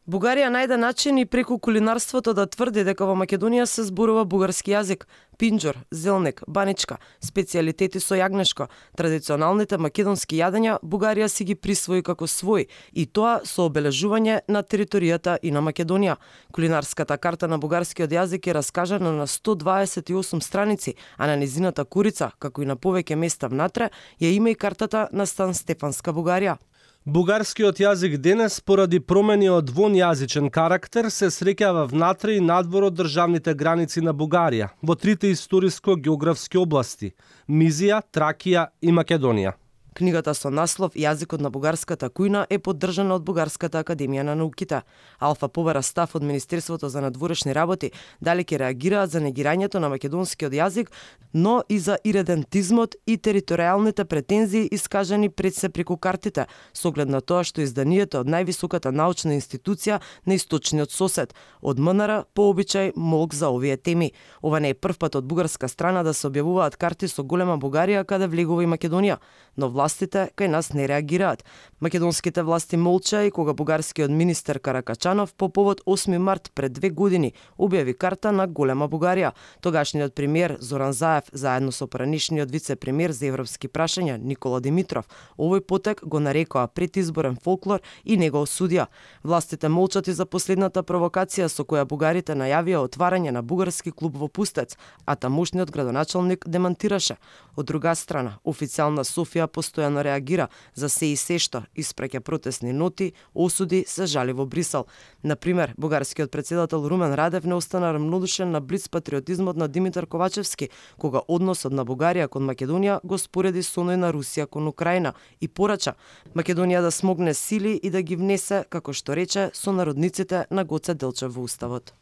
Бугарија најде начин и преку кулинарството да тврди дека во Македонија се зборува бугарски јазик. Пинџор, зелник, баничка, специјалитети со јагнешко, традиционалните македонски јадења Бугарија си ги присвои како свој, и тоа со обележување на територијата и на Македонија. Кулинарската карта на бугарскиот јазик е раскажана на 128 страници, а на низината курица, како и на повеќе места внатре, ја има и картата на Сан Стефанска Бугарија. Бугарскиот јазик денес, поради промени од вонјазичен карактер, се среќава внатре и надвор од државните граници на Бугарија, во трите историско-географски области – Мизија, Тракија и Македонија. Книгата со наслов Јазикот на бугарската кујна е поддржана од Бугарската академија на науките. Алфа побара став од Министерството за надворешни работи дали ќе реагираат за негирањето на македонскиот јазик, но и за иредентизмот и територијалните претензии искажани пред се преку картите, со оглед на тоа што изданието од највисоката научна институција на источниот сосед, од МНР по обичај молк за овие теми. Ова не е прв пат од бугарска страна да се објавуваат карти со голема Бугарија каде влегува и Македонија, но властите кај нас не реагираат. Македонските власти молча и кога бугарскиот министер Каракачанов по повод 8 март пред 2 години објави карта на голема Бугарија. Тогашниот премиер Зоран Заев заедно со поранишниот вице-премиер за европски прашања Никола Димитров овој потек го нарекоа предизборен фолклор и не го осудија. Властите молчат и за последната провокација со која бугарите најавија отварање на бугарски клуб во Пустец, а тамошниот градоначалник демантираше. Од друга страна, официјална Софија постојано реагира за се и се што, испраќа протестни ноти, осуди, се жали во Брисел. Например, бугарскиот претседател Румен Радев не остана рамнодушен на блиц патриотизмот на Димитар Ковачевски, кога односот на Бугарија кон Македонија го спореди со оној на Русија кон Украина и порача Македонија да смогне сили и да ги внесе, како што рече, со народниците на Гоце Делчев во Уставот.